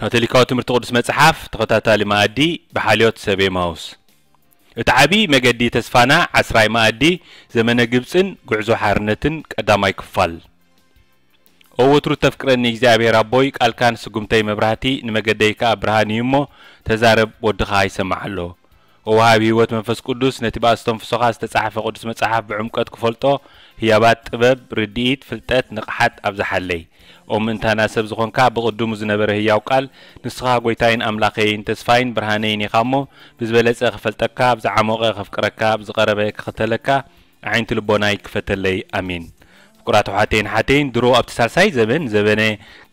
ካቶሊካዊ ትምህርቲ ቅዱስ መጽሓፍ ተኸታታሊ መኣዲ ብሓልዮት ሰብ ኤማውስ። እቲ ዓቢ መገዲ ተስፋና ዓስራይ መኣዲ ዘመነ ግብጽን ጉዕዞ ሓርነትን ቀዳማይ ክፋል። ኦ ወትሩ ተፍቅረኒ እግዚኣብሔር ኣቦይ፣ ቃልካን ስጉምተይ መብራህቲ፣ ንመገደይ ከኣ ብርሃን እዩ እሞ፣ ተዛረብ ወድኻ ይሰማዕ ኣሎ። ኦ ወሃቢ ህይወት መንፈስ ቅዱስ፣ ነቲ ብኣስተንፍሶኻ ዝተጻሕፈ ቅዱስ መጽሓፍ ብዕምቀት ክፈልጦ፣ ህያባት ጥበብ፣ ርድኢት፣ ፍልጠት፣ ንቕሓት ኣብዝሓለይ። ኦ ምእንታና ሰብ ዝኾንካ፣ ብቕድሙ ዝነበረ ህያው ቃል፣ ንስኻ ጐይታይን ኣምላኸይን፣ ተስፋይን ብርሃነይን ኢኻ እሞ፣ ብዝበለጸ ክፈልጠካ፣ ብዝዓሞቐ ከፍቅረካ፣ ብዝቐረበ ክኽተለካ፣ ኣዒንቲ ልቦናይ ክፈተለይ። ኣሜን። ፍቁራት ኣሕዋተይን ሓተይን፣ ድሮ ኣብቲ ሳልሳይ ዘመን፣ ዘበነ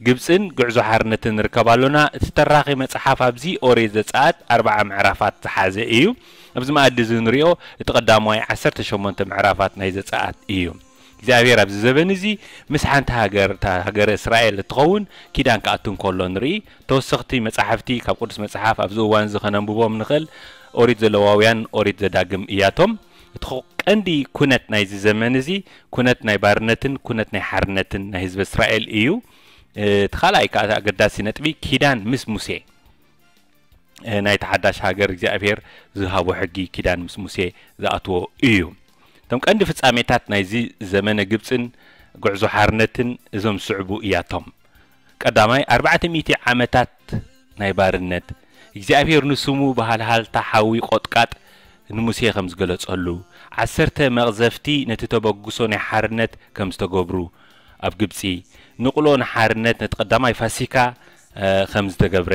ግብጽን ጉዕዞ ሓርነትን ንርከብ ኣሎና። እቲ ተራኺ መጽሓፍ ኣብዚ ኦሪት ዘጸኣት ኣርብዓ ምዕራፋት ዝሓዘ እዩ። ኣብዚ መኣዲ እዚ ንሪኦ፣ እቲ ቀዳማይ ዓሰርተ ሸሞንተ ምዕራፋት ናይ ዘጸኣት እዩ። እግዚኣብሔር ኣብዚ ዘበን እዚ ምስ ሓንቲ ሃገር፣ እታ ሃገረ እስራኤል እትኸውን፣ ኪዳን ክኣቱ እንከሎ ንርኢ። ተወሰኽቲ መጻሕፍቲ ካብ ቅዱስ መጽሓፍ ኣብዚ እዋን እዚ ከነንብቦም ንኽእል፣ ኦሪት ዘለዋውያን፣ ኦሪት ዘዳግም እያቶም። እቲ ኽ-፣ ቀንዲ ኩነት ናይዚ ዘመን እዚ፣ ኩነት ናይ ባርነትን ኩነት ናይ ሓርነትን ናይ ህዝቢ እስራኤል እዩ። እ፣ እቲ ካልኣይ ከኣ ኣገዳሲ ነጥቢ፣ ኪዳን ምስ ሙሴ፣ እ፣ ናይቲ ሓዳሽ ሃገር እግዚኣብሔር ዝሃቦ ሕጊ ኪዳን ምስ ሙሴ ዝኣትዎ እዩ። እቶም ቀንዲ ፍጻሜታት ናይዚ ዘመነ ግብጽን ጉዕዞ ሓርነትን እዞም ዝስዕቡ እያቶም። ቀዳማይ፣ ኣርባዕተ ሚእቲ ዓመታት ናይ ባርነት፣ እግዚኣብሔር ንስሙ ብሃልሃልታ ሓዊ ቆጥቃጥ ንሙሴ ከም ዝገለጸሉ፣ ዓሰርተ መቕዘፍቲ ነቲ ተበግሶ ናይ ሓርነት ከም ዝተገብሩ፣ ኣብ ግብጺ ንቕሎ ንሓርነት ነቲ ቀዳማይ ፋሲካ፣ እ፣ ከም ዝተገብረ፣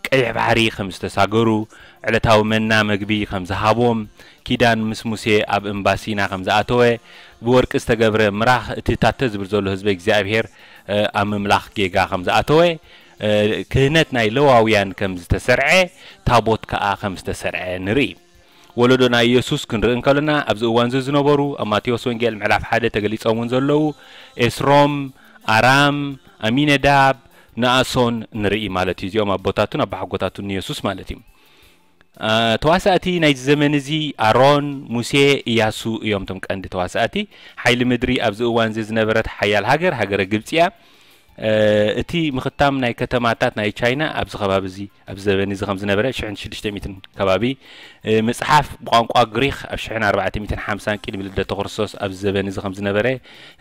ቀይሕ ባሕሪ ከም ዝተሳገሩ፣ ዕለታዊ መና መግቢ ከም ዝሃቦም፣ ኪዳን ምስ ሙሴ ኣብ እምባ ሲና ከም ዝኣተወ፣ ብወርቂ ዝተገብረ ምራኽ እቲ ታተ ዝብል ዘሎ ህዝቢ እግዚኣብሔር፣ እ፣ ኣብ ምምላኽ ጌጋ ከም ዝኣተወ፣ እ፣ ክህነት ናይ ለዋውያን ከም ዝተሰርዐ፣ ታቦት ከኣ ከም ዝተሰርዐ ንርኢ። ወለዶ ናይ ኢየሱስ ክንርኢ እንከለና፣ ኣብዚ እዋን እዚ ዝነበሩ፣ ኣብ ማቴዎስ ወንጌል ምዕራፍ ሓደ ተገሊጾም እውን ዘለዉ፣ ኤስሮም፣ ኣራም፣ ኣሚነዳብ፣ ነኣሶን ንርኢ ማለት እዩ። እዚኦም ኣቦታቱን ኣቦሓጎታቱን ንየሱስ ማለት እዩ። አ፣ ተዋሳእቲ ናይዚ ዘመን እዚ ኣሮን፣ ሙሴ፣ ኢያሱ እዮም እቶም ቀንዲ ተዋሳእቲ። ሓይሊ ምድሪ ኣብዚ እዋን እዚ ዝነበረት ሓያል ሃገር፣ ሃገረ ግብጺ እያ። እ፣ እቲ ምኽታም ናይ ከተማታት ናይ ቻይና ኣብዚ ከባቢ እዚ፣ ኣብዚ ዘበን እዚ ከም ዝነበረ፣ ሽሕን ሽዱሽተ ሚእትን ከባቢ፣ እ፣ ምጽሓፍ ብቋንቋ ግሪኽ ኣብ ሽሕን ኣርባዕተ ሚእትን ሓምሳን ቅድሚ ልደተ ክርስቶስ ኣብዚ ዘበን እዚ ከም ዝነበረ፣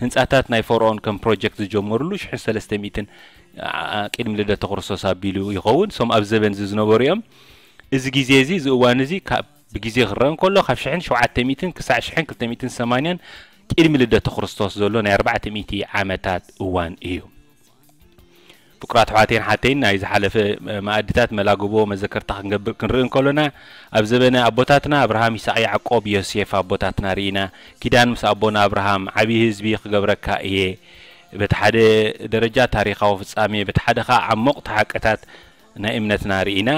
ህንጻታት ናይ ፈርኦን ከም ፕሮጀክት ዝጀመሩሉ ሽሕን ሰለስተ ሚእትን፣ ኣ፣ ቅድሚ ልደተ ክርስቶስ ኣቢሉ ይኸውን። እሶም ኣብዚ ዘበን እዚ ዝነበሩ እዮም። እዚ ግዜ እዚ፣ እዚ እዋን እዚ ካብ ብግዜ ክረአ እንከሎ፣ ካብ ሽሕን ሸውዓተ ሚእትን ክሳዕ ሽሕን ክልተ ሚእትን ሰማንያን ቅድሚ ልደተ ክርስቶስ ዘሎ ናይ ኣርባዕተ ሚእቲ ዓመታት እዋን እዩ። ፍቁራት ኣሕዋተይን ሓተይን፣ ናይ ዝሓለፈ መኣድታት መላግቦ መዘከርታ ክንገብር ክንርኢ እንከሎና፣ ኣብ ዘበነ ኣቦታትና ኣብርሃም፣ ይስሐቅ፣ ያዕቆብ፣ ዮሴፍ ኣቦታትና ርኢና። ኪዳን ምስ ኣቦና ኣብርሃም፣ ዓብዪ ህዝቢ ክገብረካ እየ። በቲ ሓደ ደረጃ ታሪኻዊ ፍጻሜ፣ በቲ ሓደ ኸኣ ዓሞቕቲ ሓቅታት ናይ እምነትና ርኢና።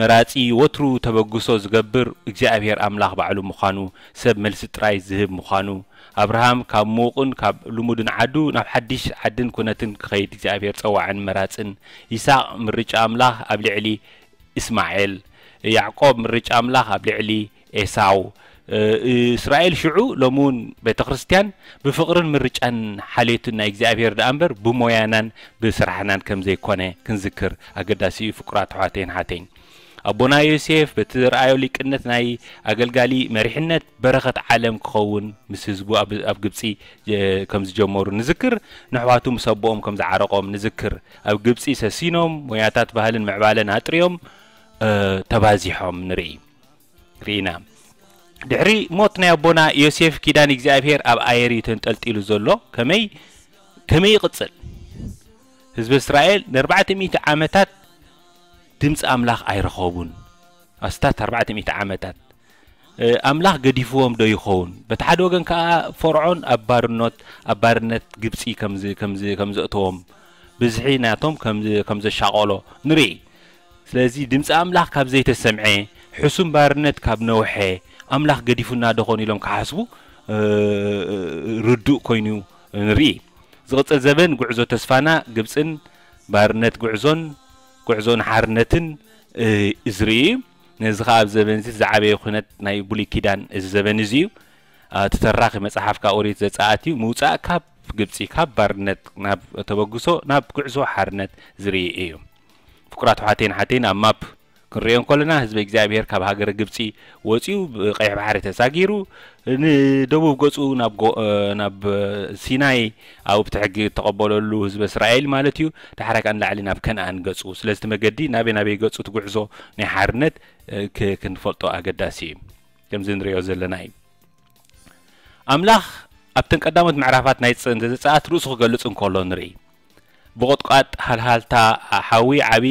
መራጺ ወትሩ ተበግሶ ዝገብር እግዚኣብሔር ኣምላኽ ባዕሉ ምዃኑ፣ ሰብ መልሲ ጥራይ ዝህብ ምዃኑ፣ ኣብርሃም ካብ ምዉቕን ካብ ልሙድን ዓዱ ናብ ሓድሽ ዓድን ኩነትን ክኸይድ እግዚኣብሔር ጸዋዕን መራጽን፣ ይስሐቅ ምርጫ ኣምላኽ ኣብ ልዕሊ እስማኤል፣ ያዕቆብ ምርጫ ኣምላኽ ኣብ ልዕሊ ኤሳው፣ እ፣ እስራኤል ሽዑ፣ ሎሚ እውን ቤተ ክርስቲያን ብፍቕርን ምርጫን ሓልዮትን ናይ እግዚኣብሔር ደኣ እምበር ብሞያናን ብስራሕናን ከም ዘይኮነ ክንዝክር ኣገዳሲ እዩ። ፍቁራት ኣሕዋተይን ሓተይን፣ ኣቦና ዮሴፍ በቲ ዘርኣዮ ሊቅነት ናይ ኣገልጋሊ መሪሕነት በረኸት ዓለም ክኸውን ምስ ህዝቡ ኣብ፣ ኣብ ግብጺ፣ እ፣ ከም ዝጀመሩ ንዝክር። ንኣሕዋቱ ምስ ኣቦኦም ከም ዝዓረቖም ንዝክር። ኣብ ግብጺ ሰሲኖም ሞያታት ባህልን ምዕባለን ኣጥርዮም፣ እ፣ ተባዚሖም ንርኢ። ርኢና። ድሕሪ ሞት ናይ ኣቦና ዮሴፍ ኪዳን እግዚኣብሔር ኣብ ኣየር እዩ ተንጠልጢሉ ዘሎ። ከመይ፣ ከመይ ይቕጽል? ህዝቢ እስራኤል ንኣርባዕተ ሚእቲ ዓመታት ድምፂ ኣምላኽ ኣይረኸቡን። ኣስታት ኣርባዕተ ሚእቲ ዓመታት፣ እ፣ ኣምላኽ ገዲፍዎም ዶ ይኸውን? በቲ ሓደ ወገን ከኣ ፈርዖን ኣብ ባርኖት፣ ኣብ ባርነት ግብፂ ከም ዝ-፣ ከም ዝ-፣ ከም ዘእተዎም፣ ብዝሒ ናቶም ከም ዝ-፣ ከም ዘሻቐሎ ንርኢ። ስለዚ ድምፂ ኣምላኽ ካብ ዘይተሰምዐ፣ ሕሱም ባርነት ካብ ነውሐ፣ ኣምላኽ ገዲፉና ዶ ኾን ኢሎም ክሓስቡ፣ እ፣ ርዱእ ኮይኑ ንርኢ። ዝቕጽል ዘበን ጉዕዞ ተስፋና ግብጽን ባርነት ጉዕዞን፣ ጉዕዞ ንሓርነትን፣ እ፣ ዝርኢ እዩ። ነዚ ኸኣ ኣብ ዘበን እዚ ዝዓበየ ኩነት ናይ ብሉይ ኪዳን እዚ ዘበን እዚ እዩ። እ፣ እቲ ተራኺ መጽሓፍ ካብ ኦሪት ዘጸኣት እዩ። ምውጻእ ካብ ግብጺ፣ ካብ ባርነት ናብ ተበግሶ፣ ናብ ጉዕዞ ሓርነት ዝርኢ እዩ። ፍቁራት ኣሕዋተይን ኣሓተይን፣ ኣብ ማፕ ክንሪኦ እንከለና፣ ህዝቢ እግዚኣብሔር ካብ ሃገረ ግብጺ ወጺኡ ብቀይሕ ባሕሪ ተሳጊሩ ንደቡብ ገጹ ናብ ጎ-፣ ናብ ሲናይ ኣብኡ ብቲ ሕጊ እተቐበለሉ ህዝቢ እስራኤል ማለት እዩ። ዳሕራይ ከኣ ንላዕሊ ናብ ከነኣን ገጹ። ስለዚ እቲ መገዲ ናበይ ናበይ ገጹ እቲ ጉዕዞ ናይ ሓርነት ክ-፣ ክንፈልጦ ኣገዳሲ እዩ። ከምዚ ንሪኦ ዘለና እዩ። ኣምላኽ ኣብተን ቀዳሞት ምዕራፋት ናይ ዘጸኣት ርእሱ ክገልጽ እንከሎ ንርኢ። ብቑጥቋጥ ሃልሃልታ ሓዊ ዓቢ፣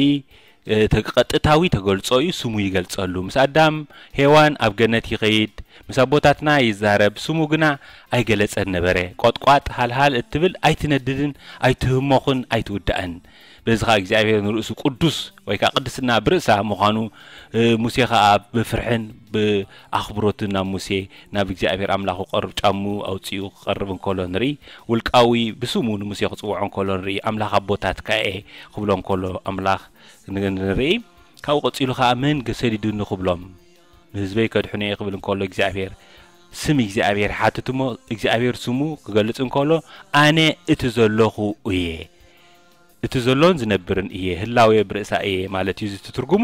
እ፣ ተ-፣ ቀጥታዊ ተገልጾ እዩ፣ ስሙ ይገልጸሉ። ምስ ኣዳም ሄዋን ኣብ ገነት ይኸይድ፣ ምስ ኣቦታትና ይዛረብ፣ ስሙ ግና ኣይገለጸን ነበረ። ቆጥቋጥ ሃልሃል እትብል ኣይትነድድን፣ ኣይትህሞኽን፣ ኣይትውዳእን። በዚ ኸኣ እግዚኣብሔር ንርእሱ ቅዱስ ወይ ከኣ ቅድስና ብርእሳ ምዃኑ፣ እ፣ ሙሴ ኸኣ ብፍርሕን ብኣኽብሮትን ናብ ሙሴ፣ ናብ እግዚኣብሔር ኣምላኹ ክቐርብ ጫሙ ኣውጺኡ ክቐርብ እንከሎ ንርኢ። ውልቃዊ ብስሙ ንሙሴ ክጽውዖ እንከሎ ንርኢ። ኣምላኽ ኣቦታትካ እየ ክብሎ እንከሎ ኣምላኽ ን-፣ ንርኢ። ካብኡ ቀጺሉ ኸኣ መን ገ-፣ ሰዲዱኒ ክብሎም፣ ንህዝበይ ከድሕኖ እየ ክብል እንከሎ እግዚኣብሔር፣ ስም እግዚኣብሔር ይሓትት እሞ እግዚኣብሔር ስሙ ክገልጽ እንከሎ ኣነ እቲ ዘለኹ እየ። እቲ ዘሎን ዝነብርን እየ፣ ህላዌ ብርእሳ እየ ማለት እዩ። እዚ ትርጉሙ፣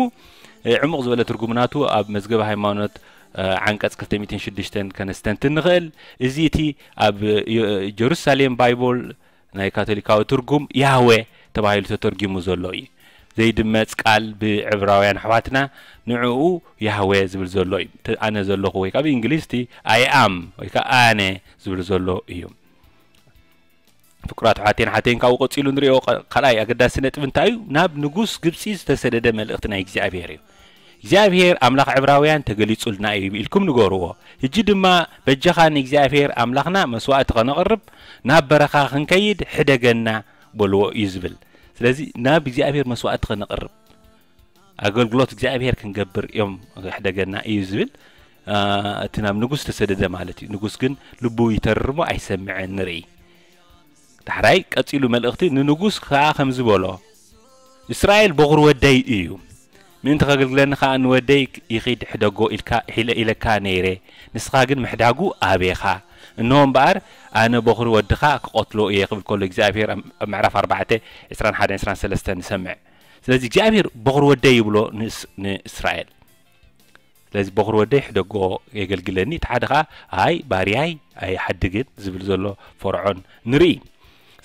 እ፣ ዕሙቕ ዝበለ ትርጉሙ ናቱ ኣብ መዝገበ ሃይማኖት፣ እ፣ ዓንቀጽ ክልተ ሚእትን ሽዱሽተን ከነስተንትን ንኽእል። እዚ እቲ ኣብ፣ እ፣ ጀሩሳሌም ባይቦል ናይ ካቶሊካዊ ትርጉም ያህዌ ተባሂሉ ተተርጊሙ ዘሎ እዩ። ዘይድመጽ ቃል ብዕብራውያን ኣሕዋትና ንዕኡ ያህዌ ዝብል ዘሎ እዩ። እቲ ኣነ ዘለኹ ወይ ከኣ ብእንግሊዝ እቲ I am ወይ ከኣ ኣነ ዝብል ዘሎ እዩ። ፍቁራት ኣሕዋተይን ኣሓተይን፣ ካብኡ ቀጺሉ ንሪኦ ቃ-፣ ካልኣይ ኣገዳሲ ነጥቢ እንታይ እዩ? ናብ ንጉስ ግብጺ ዝተሰደደ መልእኽቲ ናይ እግዚኣብሔር እዩ። እግዚኣብሔር ኣምላኽ ዕብራውያን ተገሊጹልና እዩ ኢልኩም ንገርዎ። ሕጂ ድማ በጃኻ ንእግዚኣብሔር ኣምላኽና መስዋእቲ ኸነቕርብ ናብ በረኻ ኽንከይድ ሕደገና በልዎ እዩ ዝብል። ስለዚ ናብ እግዚኣብሔር መስዋእቲ ኸነቕርብ፣ ኣገልግሎት እግዚኣብሔር ክንገብር እዮም ሕደገና እዩ ዝብል፣ አ፣ እቲ ናብ ንጉስ ተሰደደ ማለት እዩ። ንጉስ ግን ልቡ ይተርር እሞ ኣይሰምዕን ንርኢ። ዳሕራይ ቀጺሉ መልእኽቲ ንንጉስ ከኣ ከምዚ በሎ፣ "እስራኤል በኹሪ ወደይ እዩ። ምእንቲ ከገልግለኒ ከኣ ንወደይ ይኺድ ሕደጎ ኢልካ፣ ኢለ-፣ ኢለካ ነይረ። ንስኻ ግን ምሕዳጉ ኣቤኻ። እንሆ እምበኣር ኣነ በኹሪ ወድኻ ክቐትሎ እየ" ክብል ከሎ እግዚኣብሔር ኣብ፣ ኣብ ምዕራፍ ኣርባዕተ፣ ዕስራን ሓደን ዕስራን ሰለስተን ንሰምዕ። ስለዚ እግዚኣብሔር በኹሪ ወደይ ይብሎ ንእስ-፣ ንእስራኤል። ስለዚ በኹሪ ወደይ ሕደጎ የገልግለኒ፣ እቲ ሓደ ኸኣ ኣይ ባርያይ ኣይሓድግን ዝብል ዘሎ ፈርዖን ንርኢ።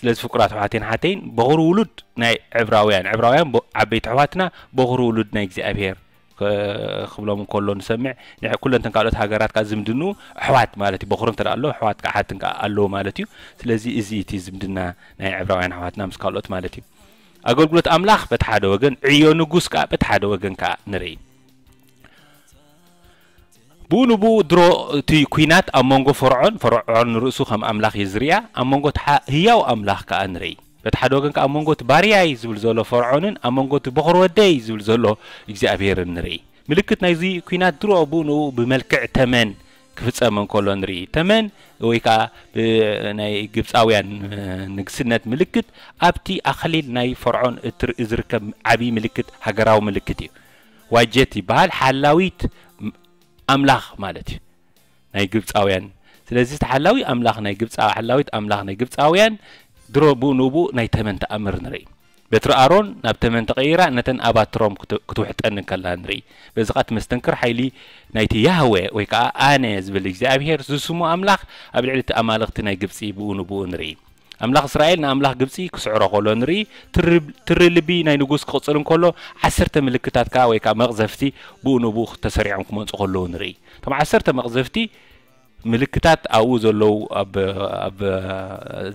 ስለዚ ፍቁራት ኣሕዋተይን ሓተይን፣ በኹሪ ውሉድ ናይ ዕብራውያን፣ ዕብራውያን ቦ-፣ ዓበይቲ ኣሕዋትና በኹሪ ውሉድ ናይ እግዚኣብሔር ከ-፣ ክብሎም እንከሎ ንሰምዕ። ንዕ-፣ ኩለንተን ካልኦት ሃገራት ከኣ ዝምድንኡ ኣሕዋት ማለት እዩ። በኹሪ እንተ ደኣ ኣሎ፣ ኣሕዋት ከኣ ሓትን ከኣ ኣለዉ ማለት እዩ። ስለዚ እዚ እቲ ዝምድና ናይ ዕብራውያን ኣሕዋትና ምስ ካልኦት ማለት እዩ። ኣገልግሎት ኣምላኽ በቲ ሓደ ወገን፣ ዕዮ ንጉስ ከኣ በቲ ሓደ ወገን ከኣ ንርኢ። ብኡ ንብኡ ድሮ እቲ ኲናት ኣብ መንጎ ፈርዖን፣ ፈርዖን ንርእሱ ከም ኣምላኽ እዩ ዝርእያ፣ ኣብ መንጎ እቲ ሓ-፣ ህያው ኣምላኽ ከኣ ንርኢ። በቲ ሓደ ወገን ከኣ ኣብ መንጎ እቲ ባርያይ ዝብል ዘሎ ፈርዖንን ኣብ መንጎ እቲ በኹሪ ወደይ ዝብል ዘሎ እግዚኣብሔርን ንርኢ። ምልክት ናይዚ ኲናት ድሮ ብኡ ንብኡ ብመልክዕ ተመን ክፍጸም እንከሎ ንርኢ። ተመን ወይ ከኣ ብ-፣ ናይ ግብጻውያን ንግስነት ምልክት ኣብቲ ኣኽሊል ናይ ፈርዖን እትር-፣ ዝርከብ ዓቢ ምልክት፣ ሃገራዊ ምልክት እዩ። ዋጀት ይበሃል፣ ሓላዊት ኣምላኽ ማለት እዩ ናይ ግብጻውያን። ስለዚ እቲ ሓላዊ ኣምላኽ ናይ ግብጻ-፣ ሓላዊት ኣምላኽ ናይ ግብጻውያን ድሮ ብኡ ንብኡ ናይ ተመን ተኣምር ንርኢ። በትሪ ኣሮን ናብ ተመን ተቐይራ ነተን ኣባትሮም ክት-፣ ክትውሕጠን እንከላ ንርኢ። በዚ ኸኣ እቲ መስተንክር ሓይሊ ናይቲ ያህወ ወይ ከኣ ኣነ ዝብል እግዚኣብሄር ዝስሙ ኣምላኽ ኣብ ልዕሊ እቲ ኣማልኽቲ ናይ ግብጺ ብኡ ንብኡ ንርኢ። ኣምላኽ እስራኤል ንኣምላኽ ግብጺ ክስዕሮ ከሎ ንርኢ። ትሪ-፣ ትሪ ልቢ ናይ ንጉስ ክቕጽል እንከሎ፣ ዓሰርተ ምልክታት ከኣ ወይ ከኣ መቕዘፍቲ ብኡ ንብኡ ተሰሪዖም ክመጹ ከለዉ ንርኢ። እቶም ዓሰርተ መቕዘፍቲ ምልክታት ኣብኡ ዘለዉ ኣብ፣ ኣብ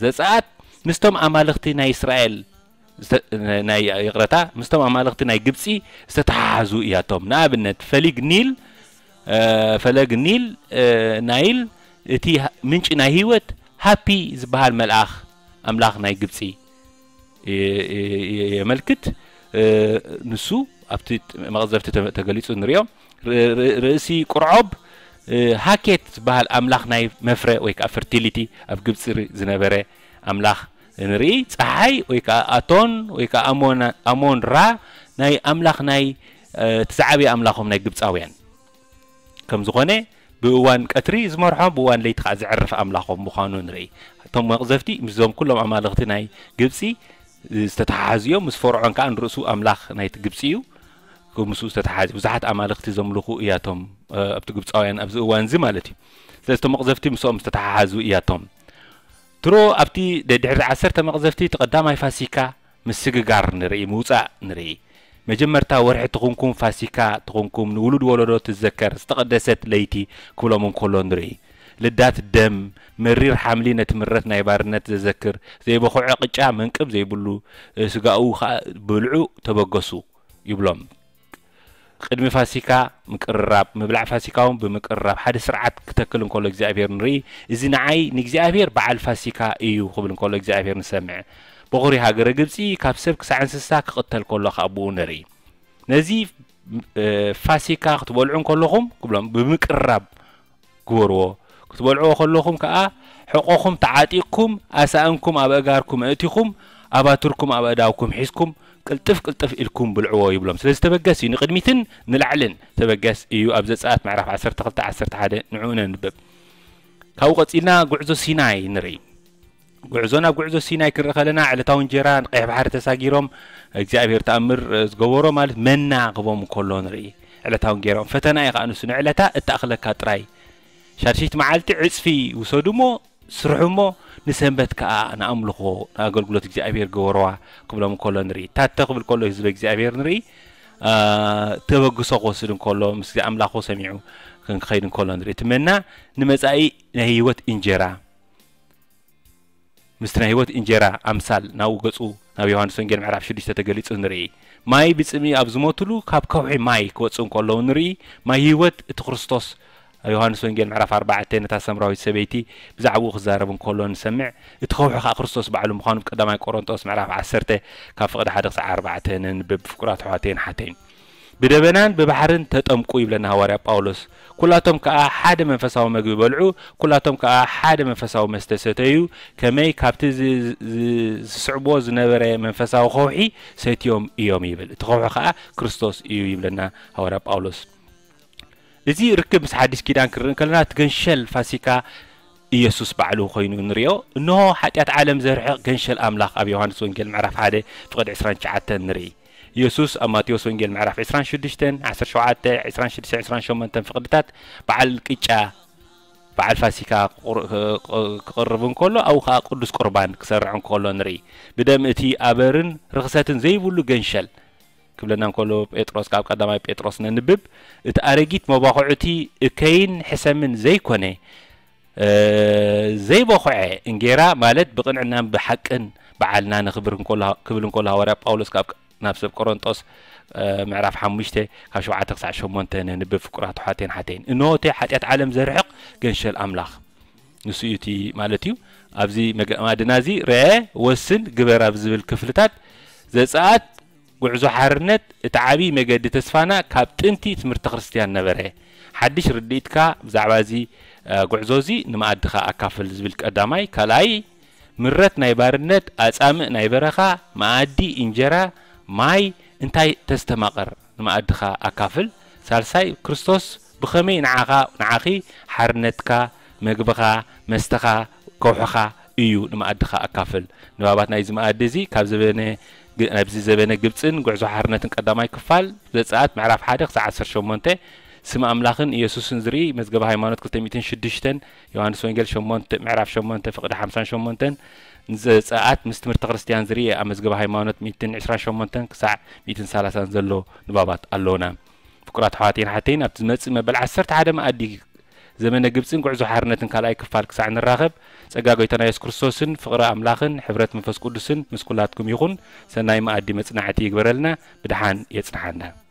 ዘጸኣት ምስቶም ኣማልኽቲ ናይ እስራኤል ዝተ-፣ ናይ፣ ይቕረታ፣ ምስቶም ኣማልኽቲ ናይ ግብጺ ዝተተሓሓዙ እያቶም። ንኣብነት፣ ፈሊግ ኒል፣ እ፣ ፈለግ ኒል፣ እ፣ ናይል፣ እቲ ሃ-፣ ምንጪ ናይ ህይወት፣ ሃፒ ዝበሃል መልኣኽ ኣምላኽ ናይ ግብጺ የ-፣ የ-፣ የ-፣ የመልክት። እ፣ ንሱ ኣብቲ መቕዘፍቲ ተ-፣ ተገሊጹ ንሪኦ። ር-፣ ር-፣ ርእሲ ቁርዖብ፣ እ፣ ሃኬት ዝበሃል ኣምላኽ ናይ መፍረ ወይ ከኣ ፈርቲሊቲ ኣብ ግብጺ ር-፣ ዝነበረ ኣምላኽ ንርኢ። ጸሓይ ወይ ከኣ ኣቶን ወይ ከኣ ኣሞና-፣ ኣሞን ራ ናይ ኣምላኽ ናይ፣ እ፣ እቲ ዝዓበየ ኣምላኾም ናይ ግብጻውያን ከም ዝኾነ ብእዋን ቀትሪ ዝመርሖም ብእዋን ለይቲ ከኣ ዘዕርፍ ኣምላኾም ምዃኑ ንርኢ። እቶም መቕዘፍቲ ምስዞም ኩሎም ኣማልኽቲ ናይ ግብጺ ዝተተሓሓዙ እዮም። ምስ ፈርዖን ከዓ ንርእሱ ኣምላኽ ናይቲ ግብፂ እዩ። ምስኡ ዝተተሓሓዘ ብዙሓት ኣማልኽቲ ዘምልኹ እያቶም ኣብቲ ግብፃውያን ኣብዚ እዋን እዚ ማለት እዩ። ስለዚ እቶም መቕዘፍቲ ምስኦም ዝተተሓሓዙ እያቶም። ድሮ ኣብቲ ድሕሪ ዓሰርተ መቕዘፍቲ እቲ ቀዳማይ ፋሲካ ምስግጋር ንርኢ፣ ምውፃእ ንርኢ። መጀመርታ ወርሒ ትኹንኩም ፋሲካ ትኹንኩም ንውሉድ ወለዶ ትዘከር ዝተቐደሰት ለይቲ ክብሎም እንከሎ ንርኢ። ልዳት ደም፣ መሪር ሓምሊ ነቲ ምረት ናይ ባርነት ዘዘክር፣ ዘይበኹዐ ቅጫ መንቅብ ዘይብሉ፣ ስጋኡ ኸዓ ብልዑ ተበገሱ ይብሎም። ቅድሚ ፋሲካ ምቅርራብ፣ ምብላዕ ፋሲካ እውን ብምቅርራብ ሓደ ስርዓት ክተክል እንከሎ እግዚኣብሔር ንርኢ። እዚ ንዓይ ንእግዚኣብሔር በዓል ፋሲካ እዩ ክብል እንከሎ እግዚኣብሔር ንሰምዕ። በኹሪ ሃገረ ግብፂ ካብ ሰብ ክሳዕ እንስሳ ክቕተል ከሎ ካብ ብኡ ንርኢ። ነዚ ፋሲካ ክትበልዑ እንከለኹም ክብሎም ብምቅርራብ ግበርዎ። ክትበልዕዎ ከለኹም ከዓ ሕቆኹም ተዓጢቕኩም ኣሳእንኩም ኣብ ኣእጋርኩም ኣእቲኹም ኣባትርኩም ኣብ ኣእዳውኩም ሒዝኩም ቅልጥፍ ቅልጥፍ ኢልኩም ብልዕዎ ይብሎም። ስለዚ ተበገስ እዩ፣ ንቕድሚትን ንላዕልን ተበገስ እዩ። ኣብ ዘጸኣት ምዕራፍ ዓሰርተ ክልተ ዓሰርተ ሓደ ንዕኡ ነንብብ። ካብኡ ቀጺልና ጉዕዞ ሲናይ ንርኢ። ጉዕዞ ናብ ጉዕዞ ሲናይ ክንርኢ ከለና ዕለታዊ እንጀራ ንቀይሕ ባሕሪ ተሳጊሮም እግዚኣብሔር ተኣምር ዝገበሮ ማለት መና ክቦም እንከሎ ንርኢ። ዕለታዊ እንጌራኦም ፈተና እዩ ከዓ ንሱ ንዕለታ እተኣኽለካ ጥራይ ሻድሽይቲ መዓልቲ ዕፅፊ ውሰዱ እሞ ስርሑ እሞ ንሰንበት ከዓ ንኣምልኾ ንኣገልግሎት እግዚኣብሔር ገበርዋ ክብሎም እንከሎ ንርኢ። ታተ ክብል ከሎ ህዝበ እግዚኣብሔር ንርኢ። ተበግሶ ክወስድ እንከሎ ምስ ኣምላኹ ሰሚዑ ክንክኸይድ እንከሎ ንርኢ። እቲ መና ንመፃኢ ናይ ህይወት እንጀራ ምስቲ ናይ ህይወት እንጀራ ኣምሳል ናብኡ ገፁ ናብ ዮሃንስ ወንጌል ምዕራፍ ሽዱሽተ ተገሊጹ ንርኢ። ማይ ብጽምኢ ኣብ ዝሞትሉ ካብ ከውሒ ማይ ክወጽእ እንከለዉ ንርኢ። ማይ ህይወት እቲ ክርስቶስ ኣብ ዮሃንስ ወንጌል ምዕራፍ ኣርባዕተ ነታ ሰምራዊት ሰበይቲ ብዛዕባኡ ክዛረብ እንከሎ ንሰምዕ። እቲ ከውሒ ከኣ ክርስቶስ ባዕሉ ምዃኑ ብ ቀዳማይ ቆሮንጦስ ምዕራፍ ዓሰርተ ካብ ፍቕዲ ሓደ ክሳዕ ኣርባዕተ ነንብብ። ፍቁራት ኣሕዋተይን ሓተይን። ብደበናን ብባሕርን ተጠምቁ ይብለና ሃዋርያ ጳውሎስ። ኩላቶም ከኣ ሓደ መንፈሳዊ መግቢ በልዑ፣ ኩላቶም ከኣ ሓደ መንፈሳዊ መስተ ሰተዩ፣ ከመይ ካብቲ ዝ- ዝ- ዝስዕብዎ ዝነበረ መንፈሳዊ ከውሒ ሰትዮም እዮም ይብል። እቲ ከውሒ ከኣ ክርስቶስ እዩ ይብለና ሃዋርያ ጳውሎስ። እዚ ርክብ ምስ ሓዲስ ኪዳን ክንርኢ ከለና እቲ ገንሸል ፋሲካ ኢየሱስ ባዕሉ ኮይኑ ንሪኦ። እንሆ ሓጢኣት ዓለም ዘርሕቕ ገንሸል ኣምላኽ ኣብ ዮሃንስ ወንጌል ምዕራፍ ሓደ ፍቕዲ ዕስራን ትሽዓተን ንርኢ። ኢየሱስ ኣብ ማቴዎስ ወንጌል ምዕራፍ ዕስራን ሽዱሽተን ዓሰርተ ሸውዓተ፣ ዕስራን ሽዱሽተ፣ ዕስራን ሸሞንተን ፍቕድታት በዓል ቅጫ በዓል ፋሲካ ክቕርብ እንከሎ ኣብኡ ከዓ ቅዱስ ቁርባን ክሰርዕ እንከሎ ንርኢ። ብደም እቲ ኣበርን ርኽሰትን ዘይብሉ ገንሸል ክብለና እንከሎ ጴጥሮስ ካብ ቀዳማይ ጴጥሮስ ነንብብ እቲ ኣረጊት መባኹዑቲ እከይን ሕሰምን ዘይኮነ ዘይበኹዐ እንጌራ ማለት ብቕንዕናን ብሓቅን በዓልና ነኽብር ክብል እንከሎ ሃዋርያ ጳውሎስ ካብ ናብ ሰብ ቆሮንጦስ ምዕራፍ ሓሙሽተ ካብ ሸውዓተ ክሳዕ ሸሞንተ ነንብብ። ፍቁራት ኣሕዋተይን ሓተይን። እንሆ እቲ ሓጢኣት ዓለም ዘርሕቕ ገንሸል ኣምላኽ ንሱ እዩ እቲ ማለት እዩ። ኣብዚ መገማድና እዚ ርአ ወስን ግበር ኣብ ዝብል ክፍልታት ዘጸኣት ጉዕዞ ሓርነት እቲ ዓብዪ መገዲ ተስፋና ካብ ጥንቲ ትምህርቲ ክርስትያን ነበረ። ሓድሽ ርድኢትካ ብዛዕባ እዚ ጉዕዞ እዚ ንመኣድኻ ኣካፍል ዝብል ቀዳማይ። ካልኣይ ምረት ናይ ባርነት ኣጻምእ ናይ በረኻ መኣዲ እንጀራ ማይ እንታይ ተስተማቕር ንመኣድኻ ኣካፍል። ሳልሳይ ክርስቶስ ብኸመይ ንዓኻ ንዓኺ ሓርነትካ መግብኻ መስተኻ ከውሕኻ እዩ ንመኣድኻ ኣካፍል። ንባባት ናይዚ መኣዲ እዚ ካብ ዘበነ ናብዚ ዘበነ ግብፅን ጉዕዞ ሓርነትን ቀዳማይ ክፋል ዘፀኣት ምዕራፍ ሓደ ክሳዕ ዓሰርተ ሸሞንተ ስም ኣምላኽን ኢየሱስን ዝርኢ መዝገበ ሃይማኖት ክልተ ሚእትን ሽዱሽተን ዮሃንስ ወንጌል ሸሞንተ ምዕራፍ ሸሞንተ ፍቕዲ ሓምሳን ሸሞንተን ዘፀኣት ምስ ትምህርቲ ክርስትያን ዝርኢ ኣብ መዝገበ ሃይማኖት ሚእትን ዕስራን ሸሞንተን ክሳዕ ሚእትን ሰላሳን ዘሎ ንባባት ኣለውና። ፍቁራት ኣሕዋተይን ሓተይን ኣብቲ ዝመፅእ መበል ዓሰርተ ሓደ መኣዲ ዘመነ ግብፅን ጉዕዞ ሓርነትን ካልኣይ ክፋል ክሳዕ ንራኸብ ጸጋ ጎይታና የሱስ ክርስቶስን ፍቕሪ ኣምላኽን ሕብረት መንፈስ ቅዱስን ምስ ኩላትኩም ይኹን። ሰናይ መኣዲ መጽናዕቲ ይግበረልና። ብድሓን የጽንሓና።